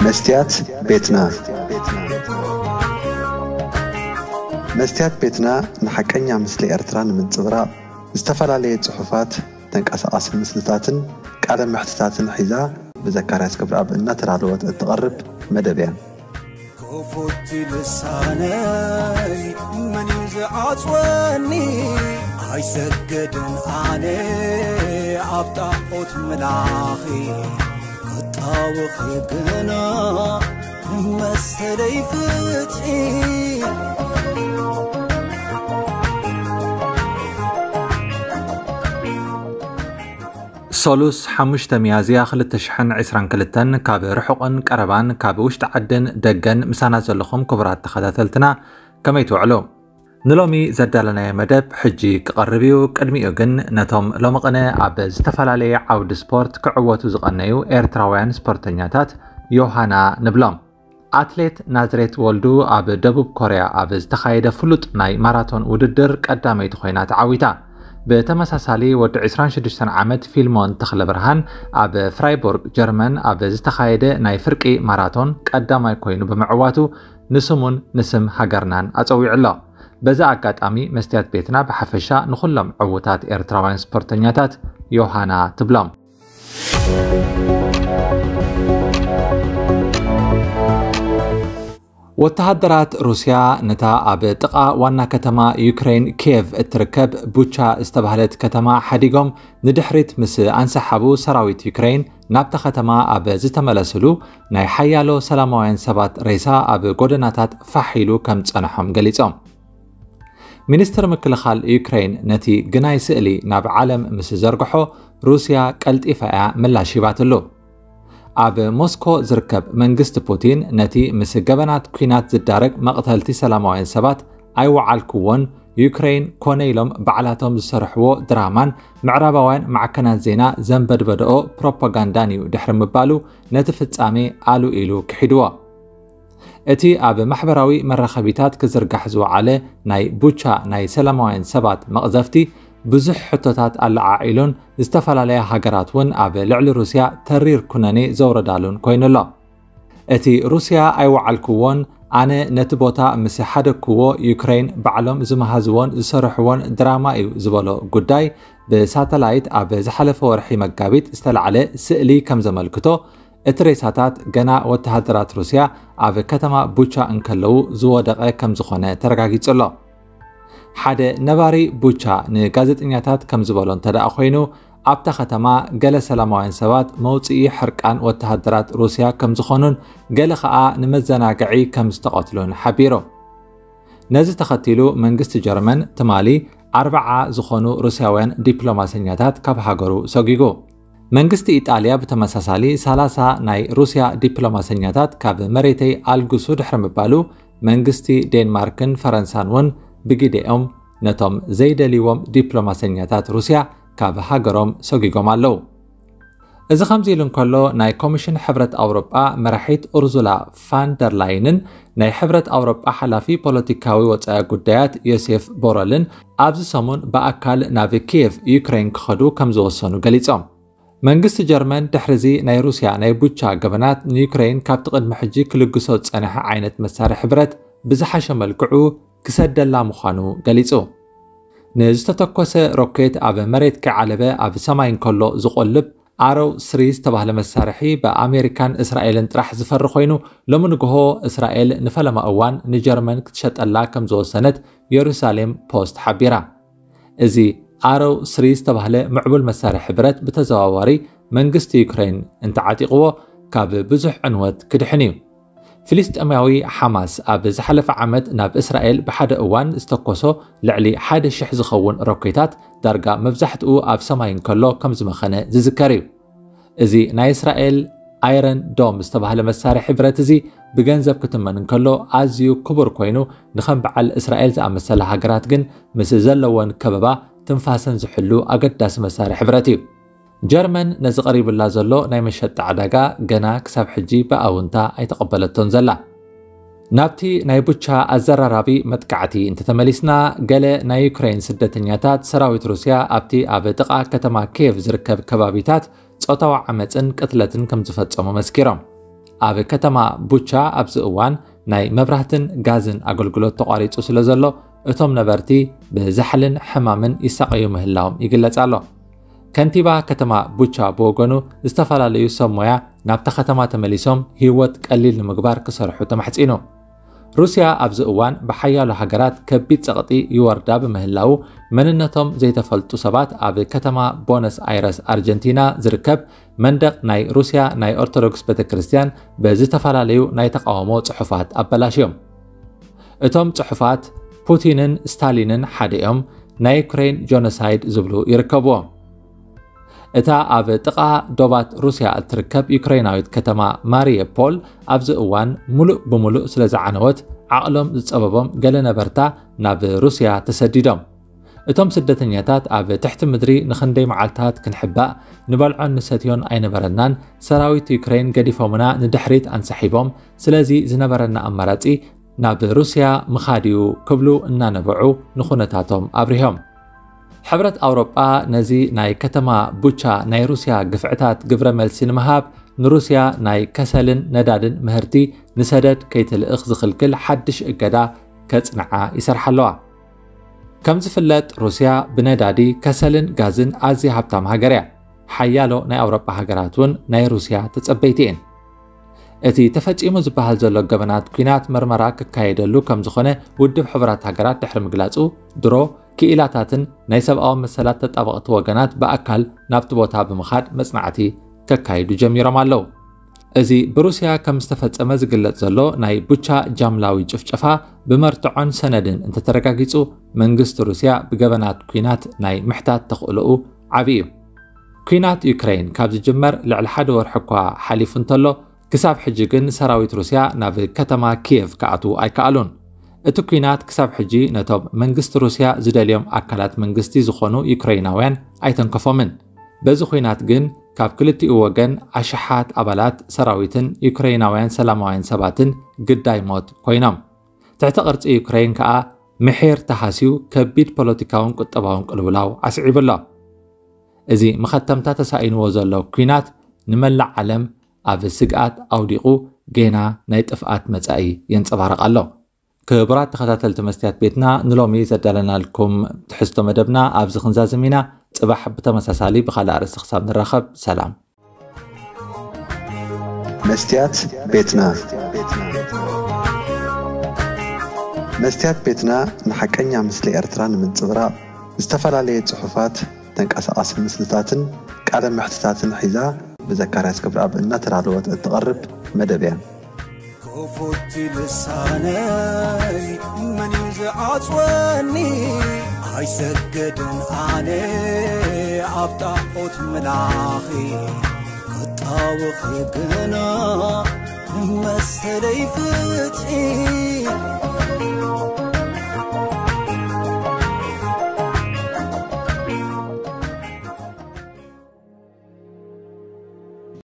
መስትያት ቤትና። መስትያት ቤትና ንሓቀኛ ምስሊ ኤርትራ ንምንጽብራቕ ዝተፈላለየ ጽሑፋት፣ ተንቀሳቓሲ ምስልታትን ቃለ መሕትታትን ሒዛ ብዘካርያስ ገብረኣብ እናተዳለወት እትቐርብ መደብ እያ። ክፉት ልሳነይ መን እዩ ዝዓጽወኒ? ኣይሰግድን ኣነ ኣብ ጣዖት ምላኺ፣ ክጣወኺ ግና መሰለይ ፍትሒ። ሰሉስ ሓሙሽተ ሚያዝያ ክልተ ሽሕን ዕስራን ክልተን ካብ ርሑቕን ቀረባን ካብ ውሽጢ ዓድን ደገን ምሳና ዘለኹም ክቡራት ተኸታተልትና ከመይ ትውዕሉ? ንሎሚ ዘዳለናዮ መደብ ሕጂ ክቐርብ እዩ። ቅድሚኡ ግን ነቶም ሎሚ ቅነ ኣብ ዝተፈላለየ ዓውዲ ስፖርት ክዕወቱ ዝቐነዩ ኤርትራውያን ስፖርተኛታት ዮሃና ንብሎም። ኣትሌት ናዝሬት ወልዱ ኣብ ደቡብ ኮርያ ኣብ ዝተኻየደ ፍሉጥ ናይ ማራቶን ውድድር ቀዳመይቲ ኮይና ተዓዊታ። ብተመሳሳሊ ወዲ ዕስራን ሽዱሽተን ዓመት ፊልሞን ተኽለብርሃን ኣብ ፍራይቦርግ ጀርመን ኣብ ዝተኻየደ ናይ ፍርቂ ማራቶን ቀዳማይ ኮይኑ ብምዕዋቱ ንስሙን ንስም ሃገርናን ኣጸዊዑ ኣሎ። በዚ ኣጋጣሚ መስትያት ቤትና ብሓፈሻ ንኹሎም ዕዉታት ኤርትራውያን ስፖርተኛታት ዮሃና ትብሎም። ወተሃደራት ሩስያ ነታ ኣብ ጥቓ ዋና ከተማ ዩክሬን ኪየቭ እትርከብ ቡቻ ዝተባህለት ከተማ ሓዲጎም ንድሕሪት ምስ ኣንሰሓቡ፣ ሰራዊት ዩክሬን ናብታ ከተማ ኣብ ዝተመለስሉ፣ ናይ ሓያሎ ሰላማውያን ሰባት ሬሳ ኣብ ጎደናታት ፋሕ ኢሉ ከም ዝጸንሖም ገሊጾም። ሚኒስትር ምክልኻል ዩክሬን ነቲ ግናይ ስእሊ ናብ ዓለም ምስ ዘርግሖ፣ ሩስያ ቀልጢፋ እያ ምላሽ ሂባትሉ። ኣብ ሞስኮ ዝርከብ መንግስቲ ፑቲን ነቲ ምስ ገበናት ኲናት ዝዳረግ መቕተልቲ ሰላማውያን ሰባት ኣይወዓልክዎን፣ ዩክሬን ኮነ ኢሎም ባዕላቶም ዝሰርሕዎ ድራማን ምዕራባውያን ማዕከናት ዜና ዘንበድበድኦ ፕሮፓጋንዳን እዩ ድሕሪ ምባሉ፣ ነቲ ፍጻሜ ኣሉ ኢሉ ክሒድዎ። እቲ ኣብ ማሕበራዊ መራኸቢታት ክዝርጋሕ ዝወዓለ ናይ ቡቻ ናይ ሰላማውያን ሰባት መቕዘፍቲ ብዙሕ ሕቶታት ኣለዓዒሉን ዝተፈላለያ ሃገራት እውን ኣብ ልዕሊ ሩስያ ተሪር ኩነኔ ዘውረዳሉን ኮይኑ ኣሎ። እቲ ሩስያ ኣይወዓልክዎን፣ ኣነ ነቲ ቦታ ምስ ሓደግክዎ ዩክሬን ባዕሎም ዝመሃዝዎን ዝሰርሕዎን ድራማ እዩ ዝበሎ ጉዳይ ብሳተላይት ኣብ ዝሓለፈ ወርሒ መጋቢት ዝተላዕለ ስእሊ ከም ዘመልክቶ፣ እቲ ሬሳታት ገና ወተሃደራት ሩስያ ኣብ ከተማ ቡቻ እንከለዉ ዝወደቐ ከም ዝኾነ ተረጋጊጹ ኣሎ። ሓደ ነባሪ ቡቻ ንጋዜጠኛታት ከም ዝበሎ እንተ ደኣ ኮይኑ፣ ኣብታ ከተማ ገለ ሰላማውያን ሰባት መውጽኢ ሕርቃን ወተሃደራት ሩስያ ከም ዝኾኑን ገለ ኸኣ ንመዘናግዒ ከም ዝተቐትሉን ሓቢሩ። ነዚ ተኸቲሉ መንግስቲ ጀርመን ትማሊ ኣርብዓ ዝኾኑ ሩስያውያን ዲፕሎማሰኛታት ካብ ሃገሩ ሰጒጉ። መንግስቲ ኢጣልያ ብተመሳሳሊ ሰላሳ ናይ ሩስያ ዲፕሎማሰኛታት ካብ መሬተይ ኣልግሱ ድሕሪ ምባሉ፣ መንግስቲ ዴንማርክን ፈረንሳን እውን ብግዴኦም ነቶም ዘይደልይዎም ዲፕሎማሰኛታት ሩስያ ካብ ሃገሮም ሰጒጎም ኣለዉ። እዚ ከምዚ ኢሉ እንከሎ፣ ናይ ኮሚሽን ሕብረት ኣውሮጳ መራሒት ኡርዙላ ፋን ደር ላይንን ናይ ሕብረት ኣውሮጳ ሓላፊ ፖለቲካዊ ወጻኢ ጉዳያት ዮሴፍ ቦረልን ኣብዚ ሰሙን ብኣካል ናብ ኪየቭ ዩክሬን ክኸዱ ከም ዝወሰኑ ገሊጾም። መንግስቲ ጀርመን ድሕሪዚ ናይ ሩስያ ናይ ቡቻ ገበናት ንዩክሬን ካብቲ ቅድሚ ሕጂ ክልግሶ ዝጸንሐ ዓይነት መሳርሒ ብረት ብዝሓሸ መልክዑ ክሰደላ ምዃኑ ገሊጹ። ንዝተተኮሰ ሮኬት ኣብ መሬት ከይዓለበ ኣብ ሰማይ እንከሎ ዝቖልብ ኣሮው ስሪ ዝተባህለ መሳርሒ ብኣሜሪካን እስራኤልን ጥራሕ ዝፈሪ ኮይኑ፣ ሎሚ ንግሆ እስራኤል ንፈለማ እዋን ንጀርመን ክትሸጠላ ከም ዝወሰነት የሩሳሌም ፖስት ሓቢራ። እዚ ኣሮው ስሪ ዝተባህለ ምዕቡል መሳርሒ ብረት ብተዘዋዋሪ መንግስቲ ዩክሬን እንተዓጢቕዎ ካብ ብዙሕ ዕንወት ክድሕን እዩ። ፍልስጤማዊ ሓማስ ኣብ ዝሓለፈ ዓመት ናብ እስራኤል ብሓደ እዋን ዝተኮሶ ልዕሊ ሓደ ሽሕ ዝኸውን ሮኬታት ዳርጋ መብዛሕትኡ ኣብ ሰማይ እንከሎ ከም ዝመኸነ ዝዝከር እዩ። እዚ ናይ እስራኤል ኣይረን ዶም ዝተባህለ መሳርሒ ብረት እዚ ብገንዘብ ክትመን እንከሎ ኣዝዩ ክቡር ኮይኑ፣ ንኸም በዓል እስራኤል ዝኣመሰላ ሃገራት ግን ምስ ዘለወን ከበባ ትንፋሰን ዝሕሉ ኣገዳሲ መሳርሒ ብረት እዩ። ጀርመን ነዚ ቀሪቡላ ዘሎ ናይ መሸጣ ዕዳጋ ገና ክሳብ ሕጂ ብኣውንታ ኣይተቐበለቶን ዘላ። ናብቲ ናይ ቡቻ ኣዘራራቢ መጥቃዕቲ እንተተመሊስና፣ ገለ ናይ ዩክሬን ስደተኛታት ሰራዊት ሩስያ ኣብቲ ኣብ ጥቓ ከተማ ኪየቭ ዝርከብ ከባቢታት ጾታዊ ዓመጽን ቅትለትን ከም ዝፈጸሙ መስኪሮም። ኣብ ከተማ ቡቻ ኣብዚ እዋን ናይ መብራህትን ጋዝን ኣገልግሎት ተቋሪጹ ስለ ዘሎ፣ እቶም ነበርቲ ብዛሕልን ሕማምን ይሳቐዩ ምህላዎም ይግለጽ ኣሎ። ከንቲባ ከተማ ቡቻ ብወገኑ፣ ዝተፈላለዩ ሰብ ሞያ ናብታ ከተማ ተመሊሶም ህይወት ቀሊል ንምግባር ክሰርሑ ተማሕጺኑ። ሩስያ ኣብዚ እዋን ብሓያሎ ሃገራት ከቢድ ጸቕጢ ይወርዳ ብምህላዉ፣ መንነቶም ዘይተፈልጡ ሰባት ኣብ ከተማ ቦነስ ኣይረስ ኣርጀንቲና ዝርከብ መንደቕ ናይ ሩስያ ናይ ኦርቶዶክስ ቤተክርስትያን ብዝተፈላለዩ ናይ ተቃውሞ ጽሑፋት ኣበላሽዮም። እቶም ጽሑፋት፣ "ፑቲንን ስታሊንን ሓደ እዮም፣ ናይ ዩክሬን ጆኖሳይድ" ዝብሉ ይርከብዎም። እታ ኣብ ጥቓ ዶባት ሩስያ እትርከብ ዩክሬናዊት ከተማ ማሪየፖል ኣብዚ እዋን ሙሉእ ብሙሉእ ስለ ዝዓነወት፣ ዓቕሎም ዝጸበቦም ገለ ነበርታ ናብ ሩስያ ተሰዲዶም። እቶም ስደተኛታት ኣብ ትሕቲ ምድሪ ንኽንደይ መዓልታት ክንሕባእ፣ ንበልዖን ንሰትዮን ኣይነበረናን፣ ሰራዊት ዩክሬን ገዲፎምና ንድሕሪት ኣንሳሒቦም፣ ስለዚ ዝነበረና ኣማራጺ ናብ ሩስያ ምኻድ እዩ ክብሉ እናነበዑ ንኹነታቶም ኣብሪሆም። ሕብረት ኣውሮጳ ነዚ ናይ ከተማ ቡቻ ናይ ሩስያ ግፍዕታት ግብረ መልሲ ንምሃብ ንሩስያ ናይ ከሰልን ነዳድን ምህርቲ ንሰደድ ከይትልእኽ ዝኽልክል ሓድሽ እገዳ ከጽንዓ ይሰርሓ ኣለዋ። ከም ዝፍለጥ ሩስያ ብነዳዲ፣ ከሰልን ጋዝን ኣዝያ ሃብታም ሃገር እያ። ሓያሎ ናይ ኣውሮጳ ሃገራት እውን ናይ ሩስያ ተጸበይቲ እየን። እቲ ተፈጺሙ ዝበሃል ዘሎ ገበናት ኲናት መርመራ ክካየደሉ ከም ዝኾነ ውድብ ሕቡራት ሃገራት ድሕሪ ምግላጹ፣ ድሮ ክኢላታትን ናይ ሰብኣዊ መሰላት ተጣበቕቲ ወገናት ብኣካል ናብቲ ቦታ ብምኻድ መጽናዕቲ ከካይዱ ጀሚሮም ኣለዉ። እዚ ብሩስያ ከም ዝተፈጸመ ዝግለጽ ዘሎ ናይ ቡቻ ጃምላዊ ጭፍጨፋ ብመርትዖን ሰነድን እንተተረጋጊጹ፣ መንግስቲ ሩስያ ብገበናት ኲናት ናይ ምሕታት ተኽእሎኡ ዓቢ እዩ። ኲናት ዩክሬን ካብ ዝጅመር ልዕሊ ሓደ ወርሒ እኳ ሓሊፉ እንተሎ፣ ክሳብ ሕጂ ግን ሰራዊት ሩስያ ናብ ከተማ ኪየቭ ክኣትዉ ኣይከኣሉን። እቲ ኲናት ክሳብ ሕጂ ነቶም መንግስቲ ሩስያ ዝደልዮም ኣካላት መንግስቲ ዝኾኑ ዩክሬናውያን ኣይተንከፎምን። በዚ ኲናት ግን ካብ ክልቲኡ ወገን ኣሽሓት ኣባላት ሰራዊትን ዩክሬናውያን ሰላማውያን ሰባትን ግዳይ ሞት ኮይኖም። ትሕቲ ቅርጺ ዩክሬን ከኣ ምሒር ተሃስዩ ከቢድ ፖለቲካውን ቁጠባውን ቅልውላው ኣስዒቡ ኣሎ። እዚ መኸተምታ ተሳኢንዎ ዘሎ ኲናት ንመላእ ዓለም ኣብ ስግኣት ኣውዲቑ ጌና ናይ ጥፍኣት መጻኢ የንጸባርቕ ኣሎ። ክቡራት ተኸታተልቲ መስትያት ቤትና፣ ንሎሚ ዘዳለናልኩም ትሕዝቶ መደብና ኣብዚ ክንዛዝም ኢና። ጽባሕ ብተመሳሳሊ ብኻልእ ኣርእስቲ ክሳብ ንራኸብ፣ ሰላም። መስትያት ቤትና። መስትያት ቤትና ንሓቀኛ ምስሊ ኤርትራ ንምንጽብራቕ ዝተፈላለየ ጽሑፋት፣ ተንቀሳቓሲ ምስልታትን ቃለ መሕትታትን ሒዛ ብዘካርያስ ክብረኣብ እናተዳለወት እትቐርብ መደብ እያ። ክፉት ልሳነይ መን እዩ ዝዓጽወኒ? ኣይሰግድን ኣነ ኣብ ጣዖት ምላኺ፣ ክጣወኺ ግና ንመሰለይ ፍትሒ።